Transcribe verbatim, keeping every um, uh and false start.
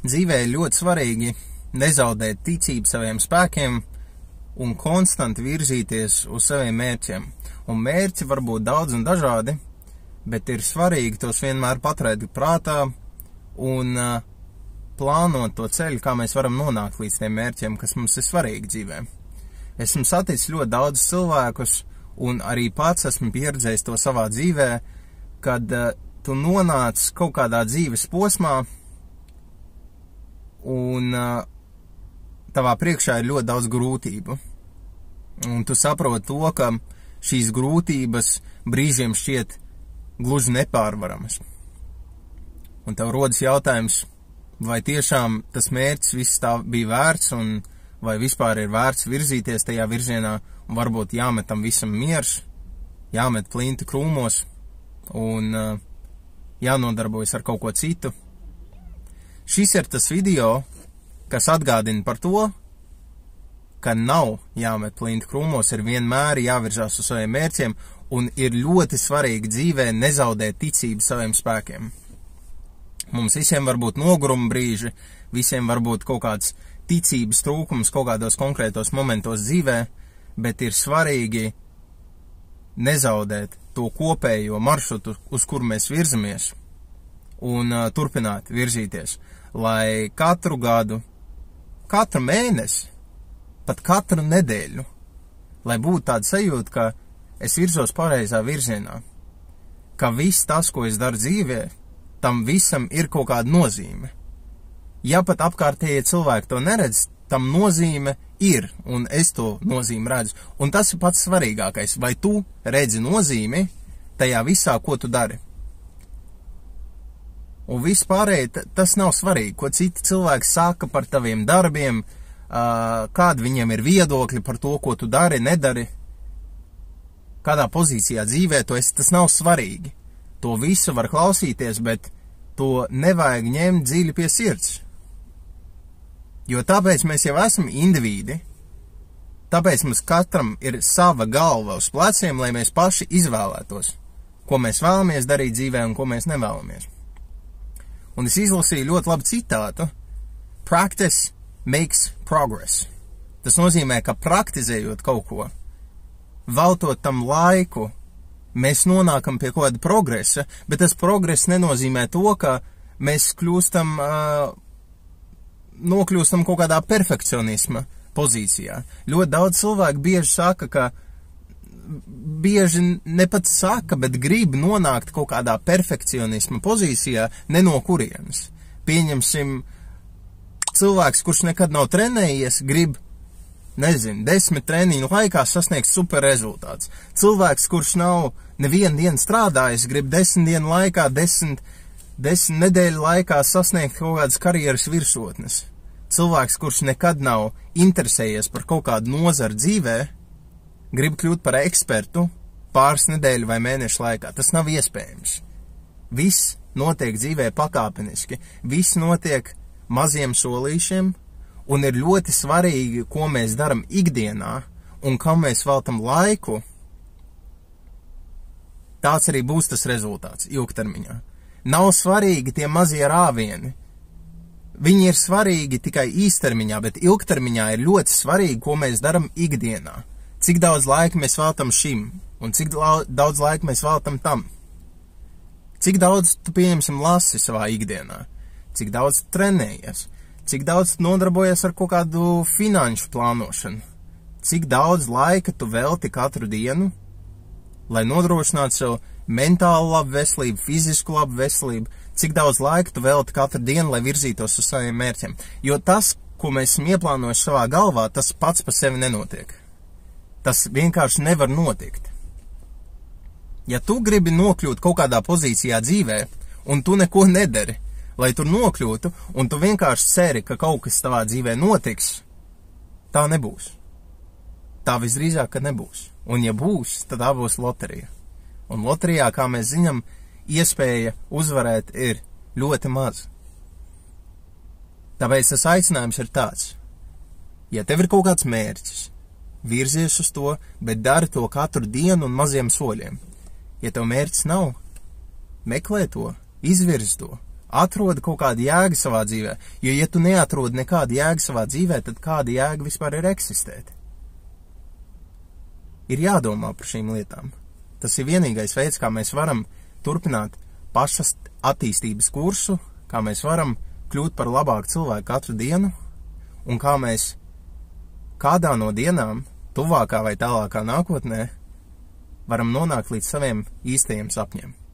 Dzīvē ir ļoti svarīgi nezaudēt ticību saviem spēkiem un konstanti virzīties uz saviem mērķiem. Un mērķi var būt daudz un dažādi, bet ir svarīgi tos vienmēr paturēt prātā un uh, plānot to ceļu, kā mēs varam nonākt līdz tiem mērķiem, kas mums ir svarīgi dzīvē. Esmu saticis ļoti daudz cilvēkus, un arī pats esmu pieredzējis to savā dzīvē, kad uh, tu nonāc kaut kādā dzīves posmā, un uh, tavā priekšā ir ļoti daudz grūtību. Un tu saproti to, ka šīs grūtības brīžiem šķiet gluži nepārvaramas. Un tev rodas jautājums, vai tiešām tas mērķis viss tā bija vērts, un vai vispār ir vērts virzīties tajā virzienā, un varbūt jāmet tam visam miers, jāmet plinti krūmos, un uh, jānodarbojas ar kaut ko citu. Šis ir tas video, kas atgādina par to, ka nav jāmet plinti krūmos, ir vienmēr jāvirzās uz saviem mērķiem, un ir ļoti svarīgi dzīvē nezaudēt ticību saviem spēkiem. Mums visiem var būt noguruma brīži, visiem var būt kaut kāds ticības trūkums kaut kādos konkrētos momentos dzīvē, bet ir svarīgi nezaudēt to kopējo maršrutu, uz kuru mēs virzamies, un uh, turpināt virzīties, lai katru gadu, katru mēnesi, pat katru nedēļu, lai būtu tāda sajūta, ka es virzos pareizā virzienā, ka viss tas, ko es daru dzīvē, tam visam ir kaut kāda nozīme. Ja pat apkārtējie cilvēki to neredz, tam nozīme ir, un es to nozīmi redzu. Un tas ir pats svarīgākais, vai tu redzi nozīmi tajā visā, ko tu dari. Un vispārēji tas nav svarīgi, ko citi cilvēki saka par taviem darbiem, kādi viņiem ir viedokļi par to, ko tu dari, nedari, kādā pozīcijā dzīvē tu esi, tas nav svarīgi. To visu var klausīties, bet to nevajag ņemt dziļi pie sirds. Jo tāpēc mēs jau esam indivīdi, tāpēc mums katram ir sava galva uz pleciem, lai mēs paši izvēlētos, ko mēs vēlamies darīt dzīvē un ko mēs nevēlamies. Un es izlasīju ļoti labu citātu. Practice makes progress. Tas nozīmē, ka praktizējot kaut ko, veltot tam laiku, mēs nonākam pie kaut kāda progresa, bet tas progress nenozīmē to, ka mēs kļūstam, uh, nokļūstam kaut kādā perfekcionisma pozīcijā. Ļoti daudz cilvēku bieži saka, ka bieži ne pat saka, bet grib nonākt kaut kādā perfekcionisma pozīcijā, ne no kurienes. Pieņemsim, cilvēks, kurš nekad nav trenējies, grib, nezinu, desmit treniņu laikā sasniegt super rezultāts. Cilvēks, kurš nav nevienu dienu strādājis, grib desmit dienu laikā, desmit, desmit nedēļu laikā sasniegt kaut kādas karjeras virsotnes. Cilvēks, kurš nekad nav interesējies par kaut kādu nozaru dzīvē, grib kļūt par ekspertu pāris nedēļu vai mēnešu laikā. Tas nav iespējams. Viss notiek dzīvē pakāpeniski. Viss notiek maziem solīšiem, un ir ļoti svarīgi, ko mēs daram ikdienā, un kam mēs veltam laiku, tāds arī būs tas rezultāts ilgtermiņā. Nav svarīgi tie mazie rāvieni. Viņi ir svarīgi tikai īstermiņā, bet ilgtermiņā ir ļoti svarīgi, ko mēs daram ikdienā. Cik daudz laika mēs veltam šim, un cik daudz laika mēs veltam tam. Cik daudz tu, pieņemsim, lasi savā ikdienā, cik daudz tu trenējies, cik daudz tu nodarbojies ar kaut kādu finanšu plānošanu, cik daudz laika tu velti katru dienu, lai nodrošinātu sev mentālu labu veselību, fizisku labu veselību, cik daudz laika tu velti katru dienu, lai virzītos uz saviem mērķiem. Jo tas, ko mēs esam ieplānojuši savā galvā, tas pats par sevi nenotiek. Tas vienkārši nevar notikt. Ja tu gribi nokļūt kaut kādā pozīcijā dzīvē, un tu neko nedari, lai tur nokļūtu, un tu vienkārši ceri, ka kaut kas tavā dzīvē notiks, tā nebūs. Tā visdrīzāk, ka nebūs. Un ja būs, tad tā būs loterija. Un loterijā, kā mēs zinām, iespēja uzvarēt ir ļoti maz. Tāpēc tas aicinājums ir tāds. Ja tev ir kaut kāds mērķis, virzies uz to, bet dari to katru dienu un maziem soļiem. Ja tev mērķis nav, meklē to, izvirz to, Atrodi kaut kādu jēgu savā dzīvē, jo, ja tu neatrodi nekādu jēgu savā dzīvē, tad kāda jēga vispār ir eksistēt? Ir jādomā par šīm lietām. Tas ir vienīgais veids, kā mēs varam turpināt pašas attīstības kursu, kā mēs varam kļūt par labāku cilvēku katru dienu, un kā mēs kādā no dienām, tuvākā vai tālākā nākotnē, varam nonākt līdz saviem īstajiem sapņiem.